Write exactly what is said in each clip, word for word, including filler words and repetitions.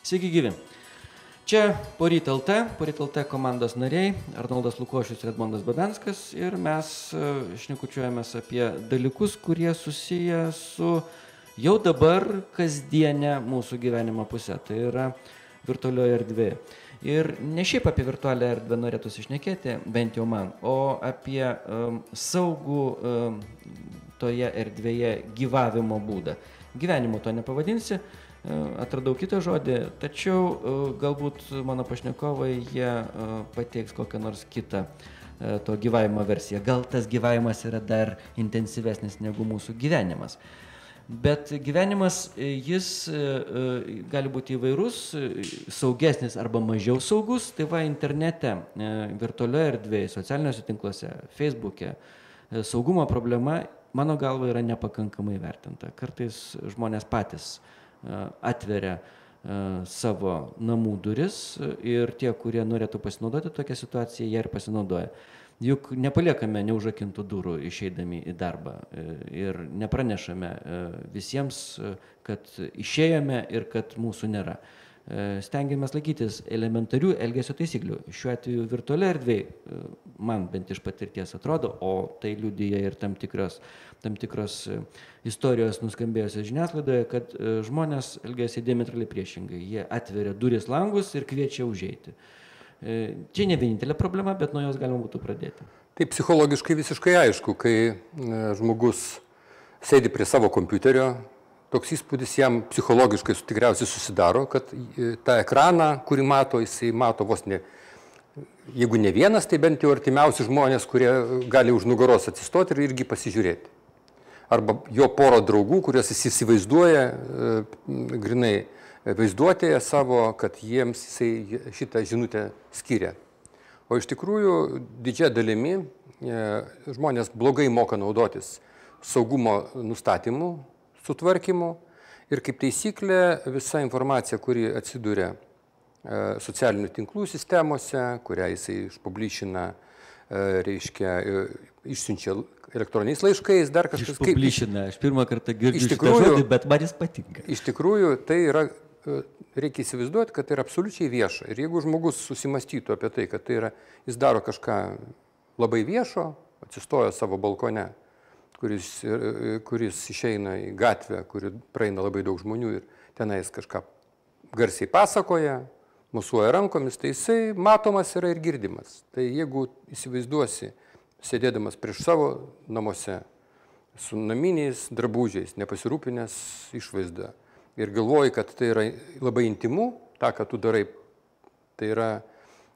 Sveiki gyvi. Čia Poryt L T, Poryt L T komandos nariai, Arnoldas Lukošius ir Edmondas Babenskas, ir mes šnekučiuojamės apie dalykus, kurie susiję su jau dabar kasdienė mūsų gyvenimo pusė, tai yra virtualioje erdvėje. Ir ne šiaip apie virtualią erdvę norėtųsi šnekėti, bent jau man, o apie um, saugų um, toje erdvėje gyvavimo būdą. Gyvenimo to nepavadinsi, atradau kitą žodį, tačiau galbūt mano pašnekovai jie pateiks kokią nors kitą to gyvavimo versiją. Gal tas gyvavimas yra dar intensyvesnis negu mūsų gyvenimas. Bet gyvenimas, jis gali būti įvairus, saugesnis arba mažiau saugus, tai va internete, virtualioje erdvėje, socialiniuose tinkluose, Facebook'e, saugumo problema, mano galva, yra nepakankamai vertinta. Kartais žmonės patys atveria savo namų duris ir tie, kurie norėtų pasinaudoti tokią situaciją, jie ir pasinaudoja. Juk nepaliekame neužrakintų durų išeidami į darbą ir nepranešame visiems, kad išėjome ir kad mūsų nėra. Stengiamės laikytis elementarių elgesio taisyklių. Šiuo atveju virtualiai erdvėj, man bent iš patirties atrodo, o tai liudija ir tam tikros, tam tikros istorijos nuskambėjusios žiniasklaidoje, kad žmonės elgiasi diametraliai priešingai. Jie atveria duris langus ir kviečia užeiti. Čia ne vienintelė problema, bet nuo jos galima būtų pradėti. Tai psichologiškai visiškai aišku, kai žmogus sėdi prie savo kompiuterio, toks įspūdis jam psichologiškai tikriausiai susidaro, kad tą ekraną, kurį mato, jisai mato vos ne, jeigu ne vienas, tai bent jau artimiausi žmonės, kurie gali už nugaros atsistoti ir irgi pasižiūrėti. Arba jo poro draugų, kuriuos jis įsivaizduoja, grinai vaizduotėje savo, kad jiems jisai šitą žinutę skiria. O iš tikrųjų, didžia dalimi žmonės blogai moka naudotis saugumo nustatymu, sutvarkymu ir kaip taisyklė visa informacija, kuri atsiduria socialinių tinklų sistemose, kurią jisai išpublišina, reiškia, išsiunčia elektroniniais laiškais, dar kažkas kaip... Išpublišina, aš pirmą kartą girdžiu šitą žodį, bet man jis patinka. Iš tikrųjų, tai yra, reikia įsivaizduoti, kad tai yra absoliučiai vieša. Ir jeigu žmogus susimastytų apie tai, kad tai yra, jis daro kažką labai viešo, atsistoja savo balkone, Kuris, kuris išeina į gatvę, kuri praeina labai daug žmonių ir tenais kažką garsiai pasakoja, mosuoja rankomis, tai jisai matomas yra ir girdimas. Tai jeigu įsivaizduosi, sėdėdamas prieš savo namuose, su naminiais drabužiais, nepasirūpinęs išvaizda ir galvoji, kad tai yra labai intimu, tą, ką tu darai, tai yra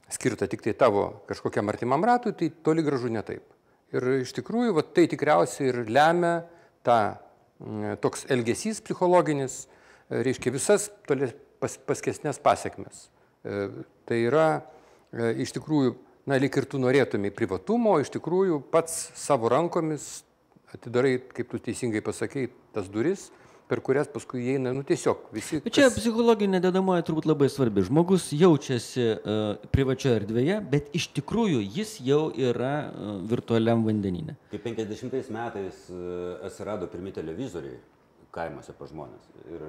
skirta tik tai tavo kažkokiam artimam ratui, tai toli gražu ne taip. Ir iš tikrųjų, va, tai tikriausiai ir lemia tą toks elgesys psichologinis, reiškia visas toli pas, paskesnės pasiekmes. Tai yra iš tikrųjų, na, lyg ir tu norėtumai privatumo, iš tikrųjų pats savo rankomis atidarai, kaip tu teisingai pasakei, tas duris, per kurias paskui įeina, nu tiesiog visi... Bet čia kas... psichologinė dedamoji turbūt labai svarbi. Žmogus jaučiasi uh, privačioje erdvėje, bet iš tikrųjų jis jau yra uh, virtualiam vandenyne. Kai penkiasdešimtais metais uh, atsirado pirmi televizoriai kaimuose pa žmonės. Ir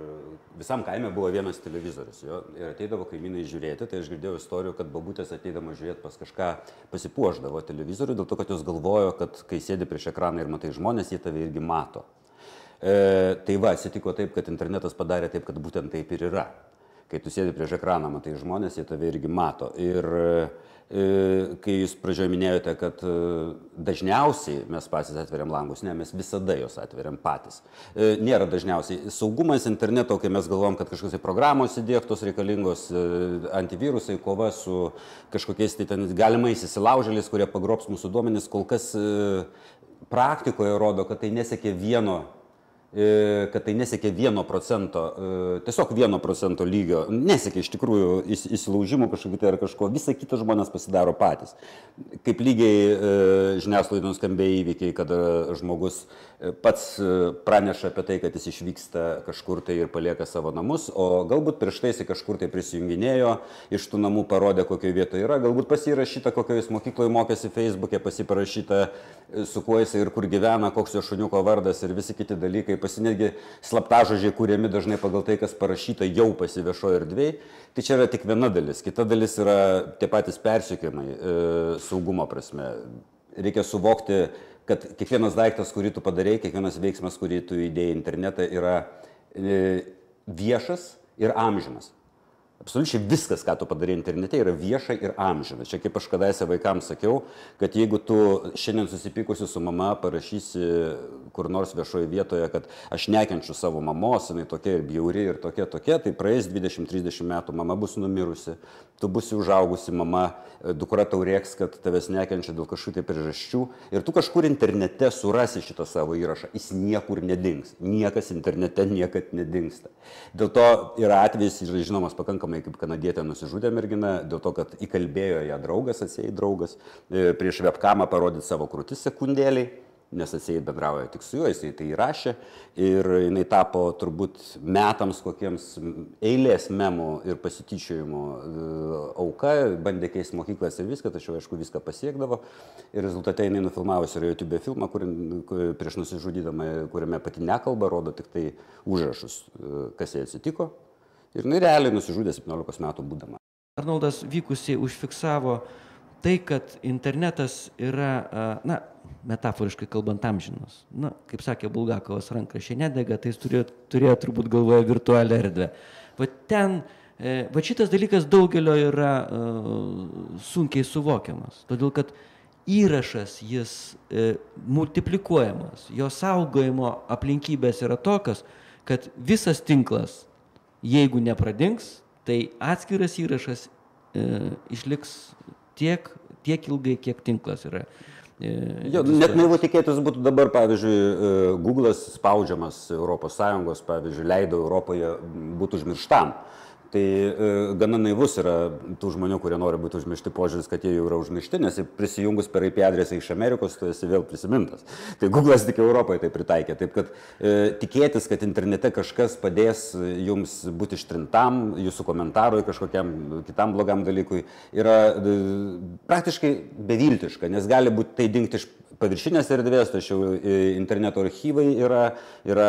visam kaime buvo vienas televizorius. Jo, ir ateidavo kaimynai žiūrėti, tai aš girdėjau istorijų, kad babutės ateidama žiūrėti pas kažką pasipuošdavo televizorių, dėl to, kad jos galvojo, kad kai sėdi prieš ekraną ir matai žmonės, jie tave irgi mato. E, tai va, atsitiko taip, kad internetas padarė taip, kad būtent taip ir yra. Kai tu sėdi prieš ekraną, matai žmonės, jie tave irgi mato. Ir e, kai jūs pradžioje minėjote, kad e, dažniausiai mes patys atveriam langus, ne, mes visada jos atveriam patys. E, nėra dažniausiai. Saugumas interneto, kai mes galvom, kad kažkokios programos įdiegtos reikalingos, e, antivirusai, kova su kažkokiais tai ten galimais įsilaužėliais, kurie pagrobs mūsų duomenis, kol kas e, praktikoje rodo, kad tai nesiekia vieno kad tai nesiekia vieno procento, tiesiog vieno procento lygio, nesiekia iš tikrųjų įsilaužimų kažkokį tai ar kažko, visą kitą žmonės pasidaro patys. Kaip lygiai žiniasklaidai nuskambėjo įvykiai, kad žmogus pats praneša apie tai, kad jis išvyksta kažkur tai ir palieka savo namus, o galbūt prieš tai jis kažkur tai prisijunginėjo, iš tų namų parodė, kokioje vietoje yra, galbūt pasirašyta, kokioje jis mokykloje mokėsi Facebook'e, pasiparašyta, su kuo jis ir kur gyvena, koks jo šuniuko vardas ir visi kiti dalykai pasinėgi slaptažodžiai kūriami dažnai pagal tai, kas parašyta jau pasiviešoje erdvėje. Tai čia yra tik viena dalis. Kita dalis yra tie patys persekiojimai e, saugumo prasme. Reikia suvokti, kad kiekvienas daiktas, kurį tu padarei, kiekvienas veiksmas, kurį tu įdėjai į internetą, yra e, viešas ir amžinas. Absoliučiai viskas, ką tu padarai internete, yra vieša ir amžina. Čia kaip aš kadaise vaikams sakiau, kad jeigu tu šiandien susipykusi su mama parašysi kur nors viešoje vietoje, kad aš nekenčiu savo mamos, jinai tokia ir bjauri ir tokia tokia, tai praeis dvidešimt trisdešimt metų, mama bus numirusi, tu būsi užaugusi mama, dukra tau rėks, kad tavęs nekenčia dėl kažkokių tai priežasčių ir tu kažkur internete surasi šitą savo įrašą, jis niekur nedings, niekas internete niekad nedingsta. Dėl to yra atvejis, yra žinomas pakankamai, kaip kanadietė nusižudė mergina, dėl to, kad įkalbėjo ją draugas, atsiejai draugas, prieš webkamą parodyti savo krūtis sekundėliai, nes atsiejai bendrauja tik su juo, jisai tai įrašė ir jinai tapo turbūt metams kokiems eilės memų ir pasityčiojimų auka, bandė keisti mokyklas ir viską, tačiau aišku viską pasiekdavo ir rezultate jinai nufilmavusi yra YouTube filmą, kur, prieš nusižudydama, kuriame pati nekalba, rodo tik tai užrašus, kas jai atsitiko. Ir jinai realiai nusižudė septyniolikos metų būdama. Arnoldas vykusiai užfiksavo tai, kad internetas yra, na, metaforiškai kalbant, amžinas. Na, kaip sakė Bulgakovas, rankraščiai nedega, tai jis turėjo, turėjo turbūt galvoje virtualią erdvę. Va ten, va šitas dalykas daugelio yra uh, sunkiai suvokiamas, todėl kad įrašas jis e, multiplikuojamas, jo saugojimo aplinkybės yra tokios, kad visas tinklas, jeigu nepradings, tai atskiras įrašas e, išliks tiek, tiek ilgai, kiek tinklas yra. E, jo, net naivu tikėtis būtų dabar, pavyzdžiui, Google'as spaudžiamas Europos Sąjungos, pavyzdžiui, leido Europoje būtų užmirštam. Tai e, gana naivus yra tų žmonių, kurie nori būti užmiršti požiūris, kad jie jau yra užmiršti, nes prisijungus per I P adresą iš Amerikos, tu esi vėl prisimintas. Tai Google'as tik Europoje tai pritaikė. Taip kad e, tikėtis, kad internete kažkas padės jums būti ištrintam, jūsų komentarui kažkokiam kitam blogam dalykui, yra e, praktiškai beviltiška, nes gali būti tai dingti iš paviršinės erdvės, tačiau interneto archyvai yra, yra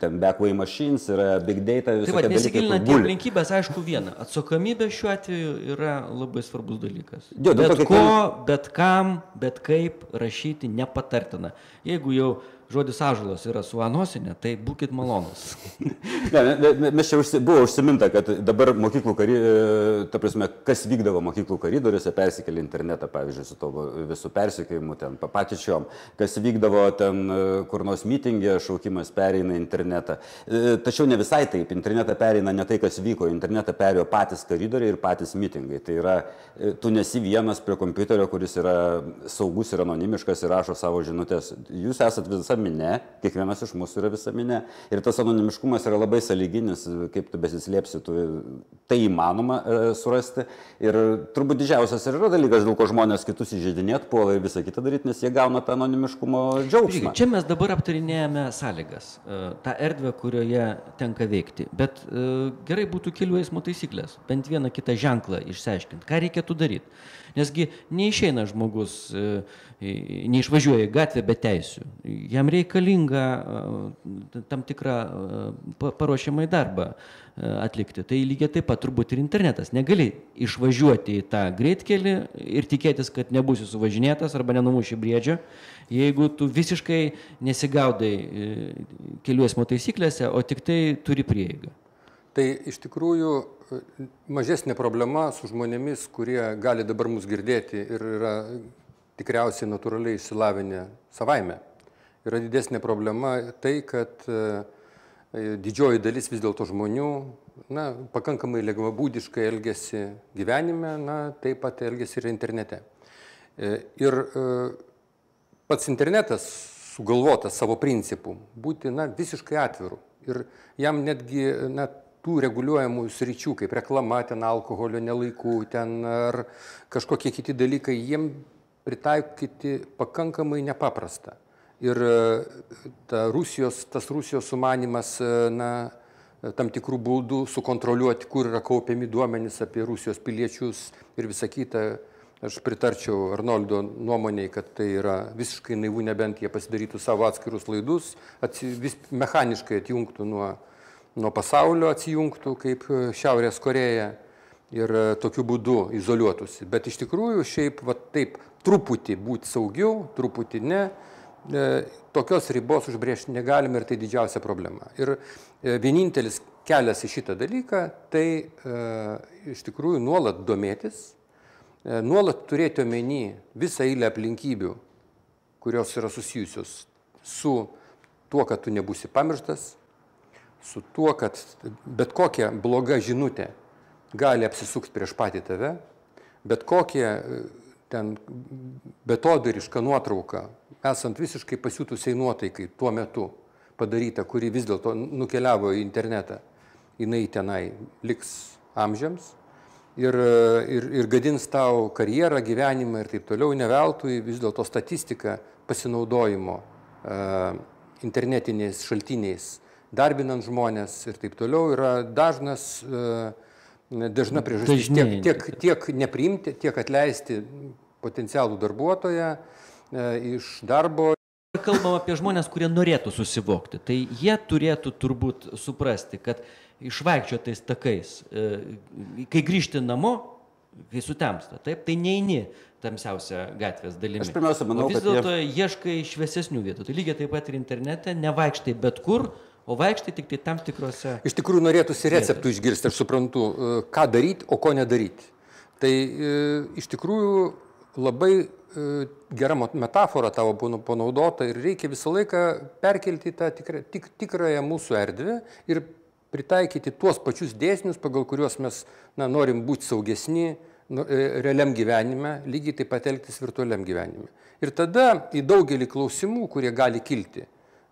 ten backway machines, yra big data, visokie dalykai. Nesigilinant į aplinkybės, aišku, viena. Atsakomybė šiuo atveju yra labai svarbus dalykas. Jo, bet to, ko, bet kam, bet kaip rašyti nepatartina. Jeigu jau žodis ąžuolas yra su anosinė, tai būkit malonus. Ne, mes čia užsi, buvo užsiminta, kad dabar mokyklų kari, ta prasme, kas vykdavo mokyklų koridoriuose, persikėlė internetą, pavyzdžiui, su to visų persikėjimu, ten papatyčiom, kas vykdavo ten kur nors mitingė, šaukimas pereina internetą. Tačiau ne visai taip, internetą pereina ne tai, kas vyko, internetą perėjo patys koridoriai ir patys mitingai. Tai yra, tu nesi vienas prie kompiuterio, kuris yra saugus ir anonimiškas ir rašo savo žinutės. Jūs esat visa minė, kiekvienas iš mūsų yra visa minė. Ir tas anonimiškumas yra labai sąlyginis, kaip tu besislėpsi, tu tai įmanoma e, surasti. Ir turbūt didžiausias ir yra dalykas, dėl ko žmonės kitus įžeidinėt puola ir visą kitą daryti, nes jie gauna tą anonimiškumo džiaugsmą. Čia mes dabar aptarinėjame sąlygas, tą erdvę, kurioje tenka veikti. Bet e, gerai būtų kelių eismo taisyklės, bent vieną kitą ženklą išsiaiškinti, ką reikėtų daryti. Nesgi neišeina žmogus, e, neišvažiuoja į gatvę be teisių. Jam reikalinga tam tikrą paruošiamą darbą atlikti. Tai lygiai taip pat turbūt ir internetas. Negali išvažiuoti į tą greitkelį ir tikėtis, kad nebūsi suvažinėtas arba nenumuši briedžio, jeigu tu visiškai nesigaudai kelių eismo taisyklėse, o tik tai turi prieigą. Tai iš tikrųjų mažesnė problema su žmonėmis, kurie gali dabar mus girdėti ir yra tikriausiai natūraliai išsilavinę savaime. Yra didesnė problema tai, kad didžioji dalis vis dėlto žmonių na, pakankamai lengvabūdiškai elgiasi gyvenime, na, taip pat elgiasi ir internete. Ir pats internetas sugalvotas savo principų būti na, visiškai atviru. Ir jam netgi na, tų reguliuojamų sričių, kaip reklama, ten alkoholio nelaikų, ten ar kažkokie kiti dalykai, jiem pritaikyti pakankamai nepaprasta. Ir ta Rusijos, tas Rusijos sumanimas na, tam tikrų būdų sukontroliuoti, kur yra kaupiami duomenys apie Rusijos piliečius ir visą kitą, Aš pritarčiau Arnoldo nuomoniai, kad tai yra visiškai naivu, nebent jie pasidarytų savo atskirus laidus, atsi, vis mechaniškai atjungtų nuo, nuo pasaulio, atsijungtų kaip Šiaurės Koreja ir tokiu būdu izoliuotųsi. Bet iš tikrųjų šiaip va, taip truputį būti saugiau, truputį ne, e, tokios ribos užbrėžti negalime ir tai didžiausia problema. Ir e, vienintelis kelias į šitą dalyką, tai e, iš tikrųjų nuolat domėtis, nuolat turėti omeny visą eilę aplinkybių, kurios yra susijusios su tuo, kad tu nebūsi pamirštas, su tuo, kad bet kokia bloga žinutė gali apsisukti prieš patį tave, bet kokia ten betodariška nuotrauka, esant visiškai pasiutusiai nuotaikai tuo metu padaryta, kuri vis dėlto nukeliavo į internetą, jinai tenai liks amžiams. Ir, ir, ir gadins tau karjerą, gyvenimą ir taip toliau, neveltui vis dėlto statistika pasinaudojimo uh, internetiniais šaltiniais, darbinant žmonės ir taip toliau yra dažnas, uh, dažna priežastis tiek, tiek, tiek nepriimti, tiek atleisti potencialų darbuotoją uh, iš darbo. Kalbam apie žmonės, kurie norėtų susivokti, tai jie turėtų turbūt suprasti, kad išvaikščiotais takais, kai grįžti namo, kai sutemsta, taip, tai neini tamsiausia gatvės dalimi. Aš pirmiausia manau, o vis kad dėlto jie... ieškai šviesesnių vietų. Tai lygiai taip pat ir internete, nevaikštai bet kur, o vaikštai tik tai tam tikrose... Iš tikrųjų norėtųsi receptų išgirsti, aš suprantu, ką daryti, o ko nedaryti. Tai iš tikrųjų labai gera metafora tavo panaudota ir reikia visą laiką perkelti tą tikrą, tik, tikrąją mūsų erdvę ir pritaikyti tuos pačius dėsnius, pagal kuriuos mes na, norim būti saugesni nu, realiam gyvenime, lygiai taip pat elgtis virtualiam gyvenime. Ir tada į daugelį klausimų, kurie gali kilti,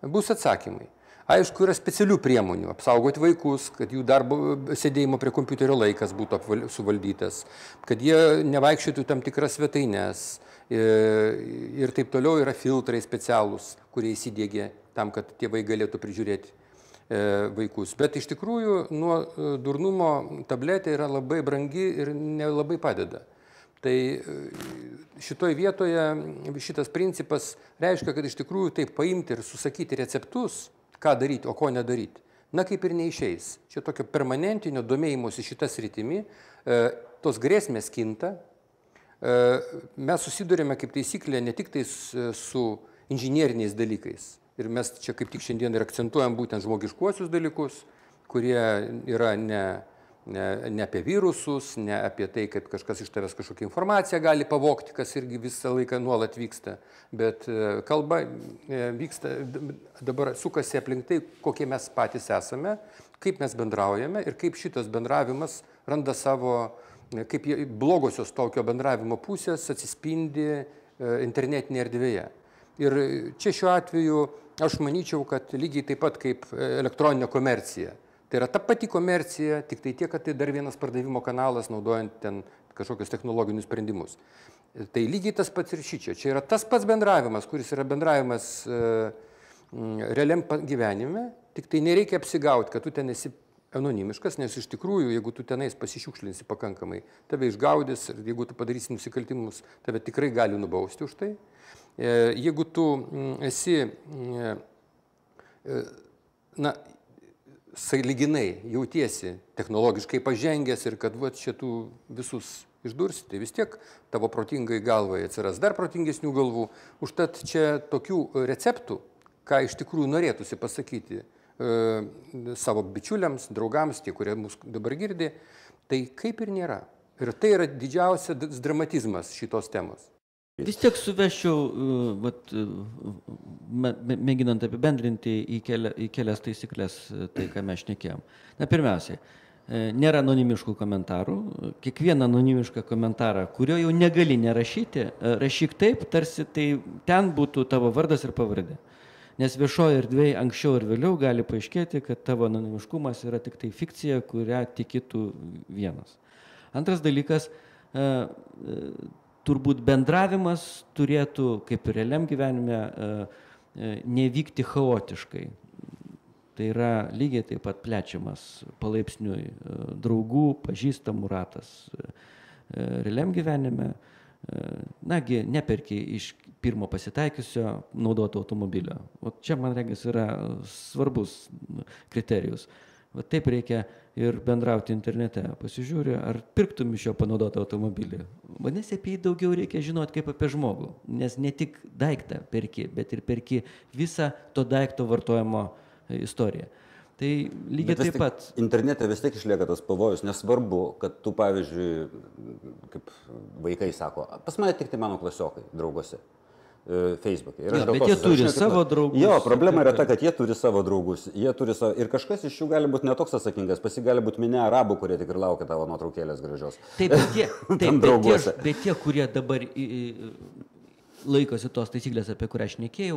bus atsakymai. Aišku, yra specialių priemonių, apsaugoti vaikus, kad jų darbo sėdėjimo prie kompiuterio laikas būtų apval, suvaldytas, kad jie nevaikščiotų tam tikras svetaines ir taip toliau yra filtrai specialūs, kurie įsidėgė tam, kad tėvai galėtų prižiūrėti vaikus. Bet iš tikrųjų nuo durnumo tabletė yra labai brangi ir nelabai padeda. Tai šitoj vietoje šitas principas reiškia, kad iš tikrųjų taip paimti ir susakyti receptus, ką daryti, o ko nedaryti. Na kaip ir neišeis. Čia tokio permanentinio domėjimosi šitas rytimi, tos grėsmės kinta. Mes susidurėme kaip taisyklė ne tik tai su inžinieriniais dalykais. Ir mes čia kaip tik šiandien ir akcentuojam būtent žmogiškuosius dalykus, kurie yra ne, ne, ne apie virusus, ne apie tai, kad kažkas iš tavęs kažkokią informaciją gali pavogti, kas irgi visą laiką nuolat vyksta. Bet kalba vyksta, dabar sukasi aplink tai, kokie mes patys esame, kaip mes bendraujame ir kaip šitas bendravimas randa savo, kaip blogosios tokio bendravimo pusės atsispindi internetinėje erdvėje. Ir čia šiuo atveju aš manyčiau, kad lygiai taip pat kaip elektroninė komercija. Tai yra ta pati komercija, tik tai tiek, kad tai dar vienas pardavimo kanalas, naudojant ten kažkokius technologinius sprendimus. Tai lygiai tas pats ir šičia. Čia yra tas pats bendravimas, kuris yra bendravimas e, realiam gyvenime, tik tai nereikia apsigauti, kad tu ten esi anonimiškas, nes iš tikrųjų, jeigu tu tenais pasišiukšlinsi pakankamai, tave išgaudys ir jeigu tu padarysi nusikaltimus, tave tikrai gali nubausti už tai. Jeigu tu esi, na, sąlyginai jautiesi technologiškai pažengęs ir kad va, čia tu visus išdursi, tai vis tiek tavo protingai galvai atsiras dar protingesnių galvų. Užtat čia tokių receptų, ką iš tikrųjų norėtųsi pasakyti e, savo bičiuliams, draugams, tie, kurie mus dabar girdi, tai kaip ir nėra. Ir tai yra didžiausias dramatizmas šitos temos. Vis tiek suveščiau, vat, mėginant apibendrinti į, keli, į kelias taisyklės tai, ką mes šnekėjom. Na, pirmiausiai, nėra anonimiškų komentarų. Kiekvieną anonimišką komentarą, kurio jau negali nerašyti, rašyk taip, tarsi tai ten būtų tavo vardas ir pavardė. Nes viešoje erdvėje anksčiau ir vėliau gali paaiškėti, kad tavo anonimiškumas yra tik tai fikcija, kurią tikitų vienas. Antras dalykas, turbūt bendravimas turėtų, kaip ir realiam gyvenime, nevykti chaotiškai. Tai yra lygiai taip pat plečiamas palaipsniui draugų, pažįstamų ratas realiam gyvenime. nagi, neperki iš pirmo pasitaikiusio naudoto automobilio. O čia, man regis, yra svarbus kriterijus. Va taip reikia ir bendrauti internete. Pasižiūri, ar pirktum iš jo panaudotą automobilį. Vadinasi, apie jį daugiau reikia žinoti kaip apie žmogų. Nes ne tik daiktą perki, bet ir perki visą to daikto vartojimo istoriją. Tai lygiai taip pat. Internete vis tiek išlieka tas pavojus, nesvarbu, kad tu, pavyzdžiui, kaip vaikai sako, pas mane tik tai mano klasiokai, drauguose, Facebook'e. Ja, bet jie turi savo draugus. Jo, problema yra ta, kad jie turi savo draugus, jie turi savo, ir kažkas iš jų gali būti netoks atsakingas, pasi gali būti minė arabų, kurie tik ir laukia tavo nuotraukėlės gražios. Taip, bet tie, taip, bet tie, bet tie, kurie dabar laikosi tos taisyklės, apie kurią aš nekėjau,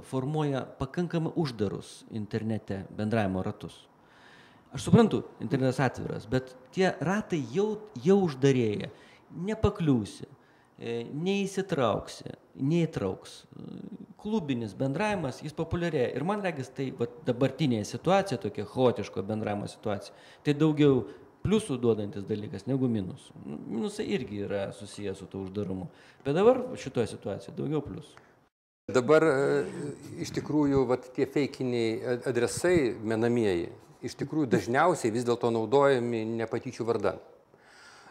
formuoja pakankamai uždarus internete bendravimo ratus. Aš suprantu, internetas atviras, bet tie ratai jau, jau uždarėja, nepakliūsi, neįsitrauksi, neįtrauks. Klubinis bendravimas, jis populiarėja. Ir man regis, tai va, dabartinėje situacija, tokia chaotiško bendravimo situacija, tai daugiau pliusų duodantis dalykas negu minusų. Minusai irgi yra susijęs su to uždarumu. Bet dabar šitoje situacijoje daugiau pliusų. Dabar iš tikrųjų vat, tie feikiniai adresai menamieji, iš tikrųjų dažniausiai vis dėlto naudojami ne patyčių vardan.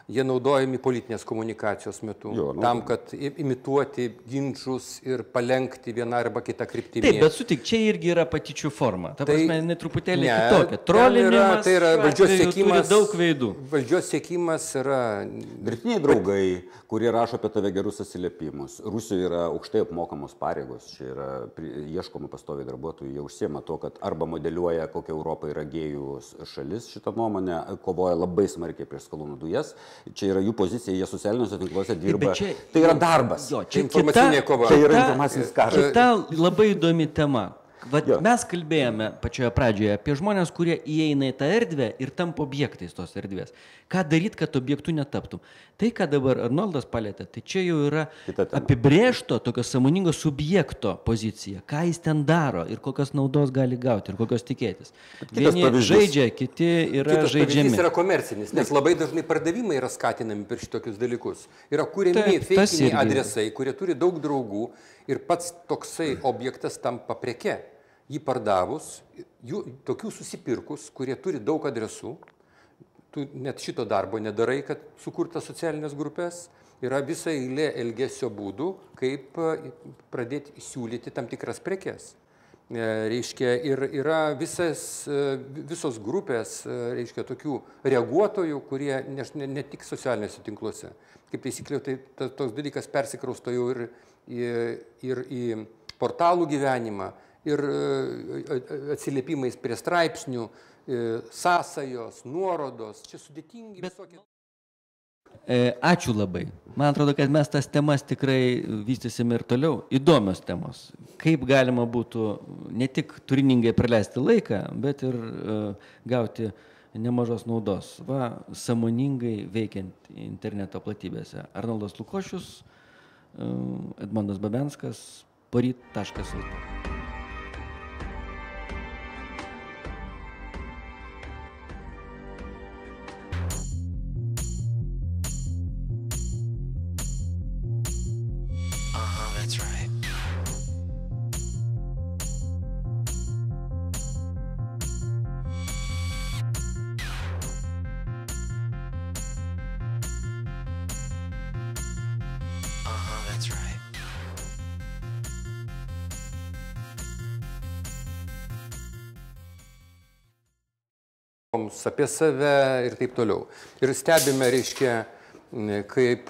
Jie naudojami politinės komunikacijos metu, jo, nu, tam, kad imituoti ginčus ir palenkti vieną arba kitą kryptimį. Taip, bet sutik, čia irgi yra patyčių forma. Ta tai, prasme, ne truputėlį ne, kitokia. Trolinimas, tai yra valdžios siekimas, daug veidų. Valdžios siekimas yra... Dirbtiniai draugai, kurie rašo apie tave gerus atsiliepimus. Rusijoje yra aukštai apmokamos pareigos, čia yra ieškoma pastoviai darbuotojų, jie užsiema to, kad arba modeliuoja, kokia Europa yra gėjų šalis šitą nuomonę, kovoja labai smarkiai prieš skalūnų dujas. Čia yra jų pozicija, jie socialiniuose tinkluose dirba. Čia, tai yra darbas. Jo, čia informacinė kita, kova. Tai yra informacinis karas. Kita labai įdomi tema. Vat mes kalbėjome pačioje pradžioje apie žmonės, kurie įeina į tą erdvę ir tampa objektais tos erdvės. Ką daryti, kad objektų netaptum? Tai, ką dabar Arnoldas palėtė, tai čia jau yra apibrėžto tokio sąmoningo subjekto pozicija. Ką jis ten daro ir kokios naudos gali gauti ir kokios tikėtis. Vieni žaidžia, kiti yra Kitas žaidžiami. Kitas yra komercinis, nes labai dažnai pardavimai yra skatinami per šitokius dalykus. Yra kuriami feikiniai adresai, kurie turi daug draugų ir pats toksai objektas tampa preke. Jį pardavus, jų, tokių susipirkus, kurie turi daug adresų, tu net šito darbo nedarai, kad sukurta socialinės grupės, yra visa eilė elgesio būdų, kaip pradėti siūlyti tam tikras prekes. Reiškia, ir yra visas, visos grupės, reiškia, tokių reaguotojų, kurie ne, ne, ne tik socialiniuose tinkluose. Kaip taisyklė, tai ta, toks dalykas persikrausto jau ir, ir, ir į portalų gyvenimą, ir atsiliepimais prie straipsnių, sąsajos, nuorodos, čia sudėtingi visokie. Ačiū labai. Man atrodo, kad mes tas temas tikrai vystysime ir toliau. Įdomios temos. Kaip galima būtų ne tik turiningai praleisti laiką, bet ir gauti nemažos naudos. Va, sąmoningai veikiant interneto platybėse. Arnoldas Lukošius, Edmondas Babenskas, poryt taškas lt. Apie save ir taip toliau. Ir stebime, reiškia, kaip